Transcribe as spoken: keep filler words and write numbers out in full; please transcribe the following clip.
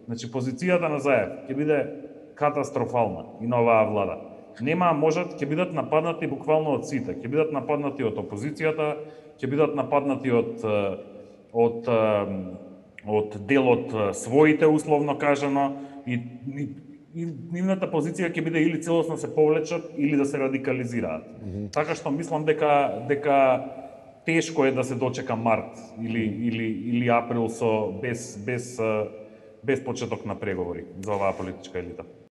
Значи, позицијата на Заев ќе биде катастрофална и на оваа влада. Нема можат, ќе бидат нападнати буквално од сите, ќе бидат нападнати од опозицијата, ќе бидат нападнати од од од дел од своите, условно кажано, и, и, и нивната позиција ќе биде или целосно се повлечат или да се радикализираат. Mm -hmm. Така што мислам дека дека тешко е да се дочека март или или или април со без без без почеток на преговори за оваа политичка елита.